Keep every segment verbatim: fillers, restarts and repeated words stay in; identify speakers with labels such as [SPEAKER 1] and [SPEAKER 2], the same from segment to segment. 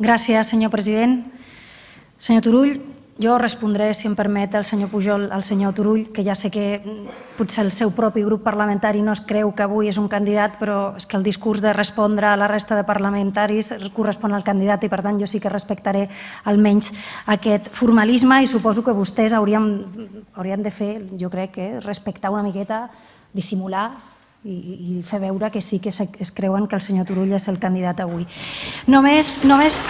[SPEAKER 1] Gràcies, senyor president. Senyor Turull, jo respondré, si em permet, al senyor Pujol, al senyor Turull, que ja sé que potser el seu propi grup parlamentari no es creu que avui és un candidat, però és que el discurs de respondre a la resta de parlamentaris correspon al candidat i, per tant, jo sí que respectaré almenys aquest formalisme i suposo que vostès haurien, haurien de fer, jo crec, que respectar una miqueta, dissimular i, i fer veure que sí que es creuen que el senyor Turull és el candidat avui. Només... només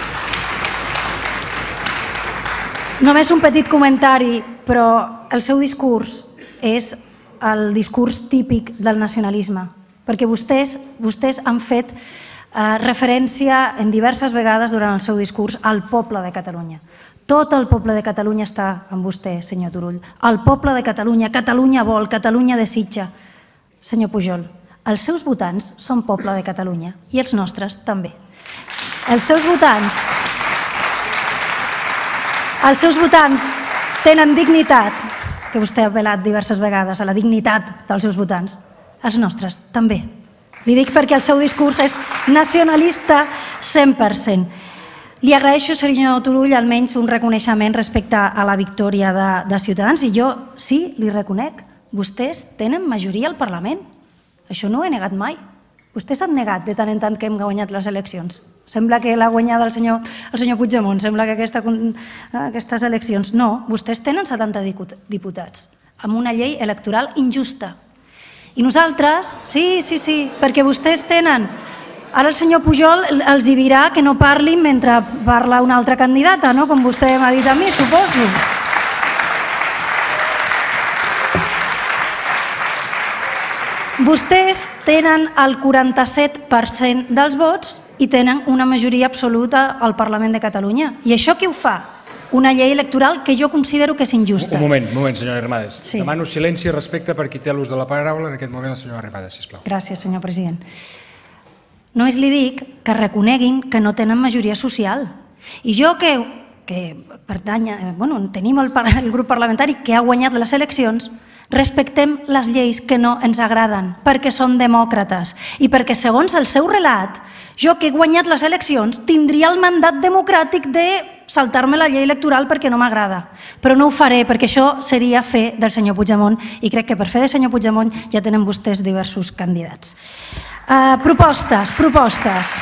[SPEAKER 1] Només un petit comentari, però el seu discurs és el discurs típic del nacionalisme, perquè vostès, vostès han fet eh, referència en diverses vegades durant el seu discurs al poble de Catalunya. Tot el poble de Catalunya està amb vostè, senyor Turull. El poble de Catalunya, Catalunya vol, Catalunya desitja. Senyor Pujol, els seus votants són poble de Catalunya i els nostres també. Els seus votants... Els seus votants tenen dignitat, que vostè ha apel·lat diverses vegades a la dignitat dels seus votants. Els nostres també. Li dic perquè el seu discurs és nacionalista cent per cent. Li agraeixo, senyor Turull, almenys un reconeixement respecte a la victòria de, de Ciutadans i jo sí, li reconec, vostès tenen majoria al Parlament. Això no ho he negat mai. Vostès han negat de tant en tant que hem guanyat les eleccions. Sembla que l'ha guanyada el senyor, el senyor Puigdemont, sembla que aquesta, aquestes eleccions... No, vostès tenen setanta diputats, amb una llei electoral injusta. I nosaltres, sí, sí, sí, perquè vostès tenen... Ara el senyor Pujol els dirà que no parlin mentre parla una altra candidata, no? Com vostè m'ha dit a mi, suposo. Vostès tenen el quaranta-set per cent dels vots i tenen una majoria absoluta al Parlament de Catalunya. I això què ho fa? Una llei electoral que jo considero que és injusta.
[SPEAKER 2] Un moment, un moment, senyora Arrimadas. Sí. Demano silenci i respecte per qui té l'ús de la paraula en aquest moment, la senyora Arrimadas, sisplau.
[SPEAKER 1] Gràcies, senyor president. Només li dic que reconeguin que no tenen majoria social. I jo que, que pertany, bueno, tenim el, el grup parlamentari que ha guanyat les eleccions, respectem les lleis que no ens agraden, perquè són demòcrates i perquè, segons el seu relat, jo que he guanyat les eleccions tindria el mandat democràtic de saltar-me la llei electoral perquè no m'agrada. Però no ho faré, perquè això seria fer del senyor Puigdemont i crec que per fer del senyor Puigdemont ja tenen vostès diversos candidats. Uh, propostes, propostes.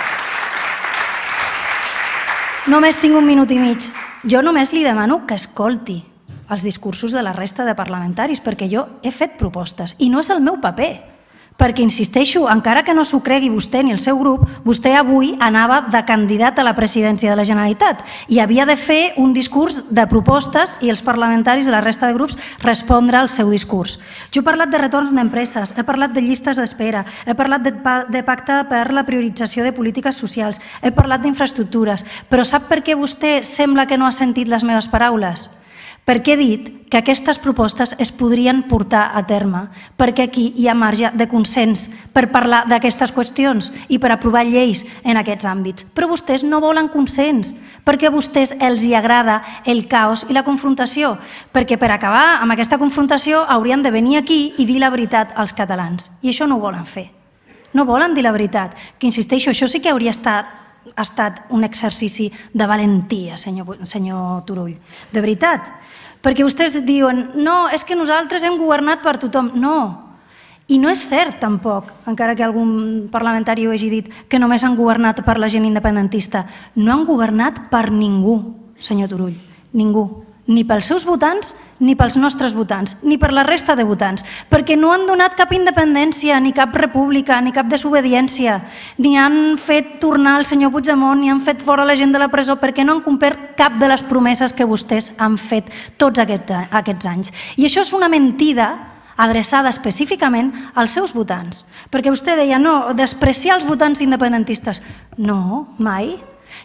[SPEAKER 1] Només tinc un minut i mig. Jo només li demano que escolti els discursos de la resta de parlamentaris, perquè jo he fet propostes i no és el meu paper, perquè, insisteixo, encara que no s'ho cregui vostè ni el seu grup, vostè avui anava de candidat a la presidència de la Generalitat i havia de fer un discurs de propostes i els parlamentaris de la resta de grups respondre al seu discurs. Jo he parlat de retorn d'empreses, he parlat de llistes d'espera, he parlat de pacte per la priorització de polítiques socials, he parlat d'infraestructures, però sap per què vostè sembla que no ha sentit les meves paraules? Perquè he dit que aquestes propostes es podrien portar a terme, perquè aquí hi ha marge de consens per parlar d'aquestes qüestions i per aprovar lleis en aquests àmbits. Però vostès no volen consens, perquè a vostès els hi agrada el caos i la confrontació, perquè per acabar amb aquesta confrontació haurien de venir aquí i dir la veritat als catalans. I això no ho volen fer. No volen dir la veritat, que insisteixo, això sí que hauria estat ha estat un exercici de valentia, senyor, senyor Turull. De veritat. Perquè vostès diuen, no, és que nosaltres hem governat per tothom. No. I no és cert, tampoc, encara que algun parlamentari ho hagi dit, que només han governat per la gent independentista. No han governat per ningú, senyor Turull. Ningú. Ni pels seus votants, ni pels nostres votants, ni per la resta de votants, perquè no han donat cap independència, ni cap república, ni cap desobediència, ni han fet tornar el senyor Puigdemont, ni han fet fora la gent de la presó, perquè no han complert cap de les promeses que vostès han fet tots aquests anys. I això és una mentida adreçada específicament als seus votants, perquè vostè deia, no, despreciar els votants independentistes. No, mai.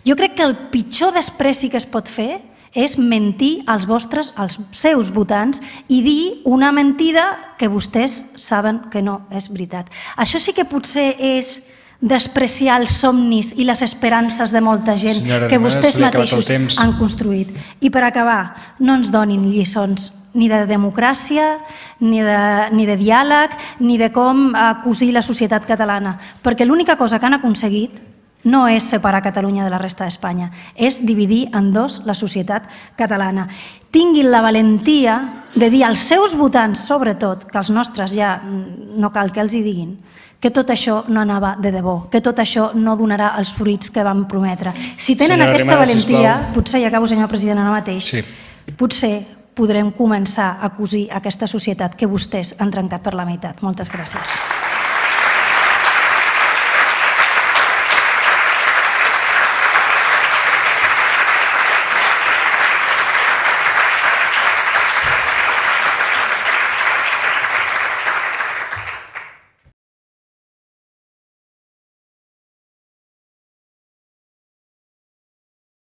[SPEAKER 1] Jo crec que el pitjor despreci que es pot fer és mentir als vostres, als seus votants i dir una mentida que vostès saben que no és veritat. Això sí que potser és despreciar els somnis i les esperances de molta gent que vostès mateixos han construït. I per acabar, no ens donin lliçons ni de democràcia, ni de diàleg, ni de com cosir la societat catalana, perquè l'única cosa que han aconseguit no és separar Catalunya de la resta d'Espanya, és dividir en dos la societat catalana. Tinguin la valentia de dir als seus votants, sobretot, que els nostres ja no cal que els hi diguin, que tot això no anava de debò, que tot això no donarà els fruits que vam prometre. Si tenen aquesta valentia, potser, i acabo, senyor president, ara mateix, potser podrem començar a cosir aquesta societat que vostès han trencat per la meitat. Moltes gràcies.